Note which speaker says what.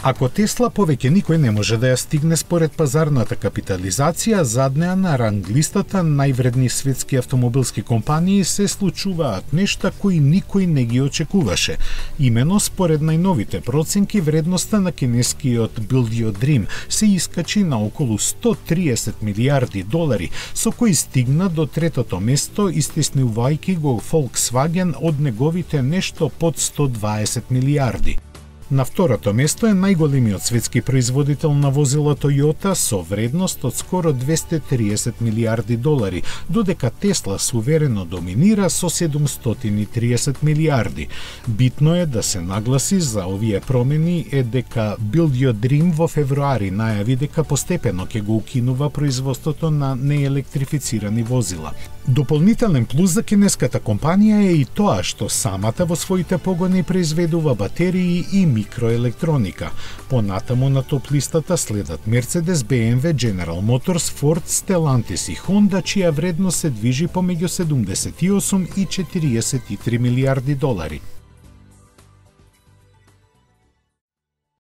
Speaker 1: Ако Тесла повеќе никој не може да ја стигне според пазарната капитализација, заднеа на ранглистата највредни светски автомобилски компании се случуваат нешта кои никој не ги очекуваше. Имено според најновите проценки, вредноста на кинескиот Build Your Dream се искачи на околу 130 милиарди долари, со кои стигна до третото место, истеснувајќи го Volkswagen од неговите нешто под 120 милиарди. На второто место е најголемиот светски производител на возила Toyota со вредност од скоро 230 милиарди долари, додека Тесла суверено доминира со 730 милиарди. Битно е да се нагласи за овие промени е дека Build Your Dream во февруари најави дека постепено ќе го укинува производството на неелектрифицирани возила. Дополнителен плюс за кинеската компанија е и тоа што самата во своите погони произведува батерии и микроелектроника. Понатаму на топ-листата следат Mercedes, BMW, General Motors, Ford, Stellantis и Honda, чија вредност се движи помеѓу 78 и 43 милиарди долари.